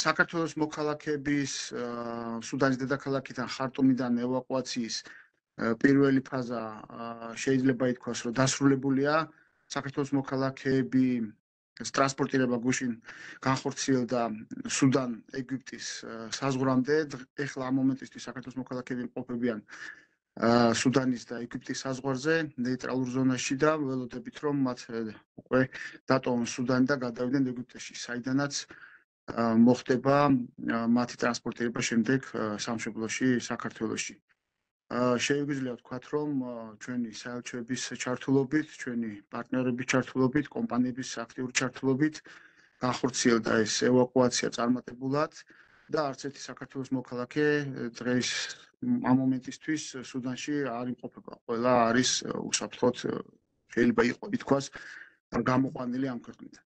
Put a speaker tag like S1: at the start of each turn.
S1: საქართველოს მოქალაქეების სუდანის დედაქალაქიდან ხარტუმიდან ევაკუაციის პირველი ფაზა შეიძლება ითქვას, რომ დასრულებულია. საქართველოს მოქალაქეები ტრანსპორტირება გუშინ განხორციელდა სუდან ეგვიპტის საზღვრამდე. ეხლა ამ მომენტისთვის საქართველოს მოქალაქეები იმყოფებიან სუდანის და ეგვიპტის საზღვარზე, ნეიტრალურ ზონაში და ველოდებით, რომ მათ უკვე დატოვონ სუდანი და გადავიდნენ ეგვიპტეში, საიდანაც მოხდება მათი ტრანსპორტირება შემდეგ სამშობლოში, საქართველოში. Შეგვიძლია ვთქვათ, რომ ჩვენი საელჩოების ჩართულობით, ჩვენი პარტნიორების ჩართულობით, კომპანიების აქტიური ჩართულობით განხორციელდა ეს ევაკუაცია წარმატებულად და არც ერთი საქართველოს მოქალაქე დღეს ამ მომენტისთვის სუდანში არ იმყოფება. ყველა არის უსაფრთხოდ შეიძლება ითქვას გამოყვანილი ამ ქვეყნიდან.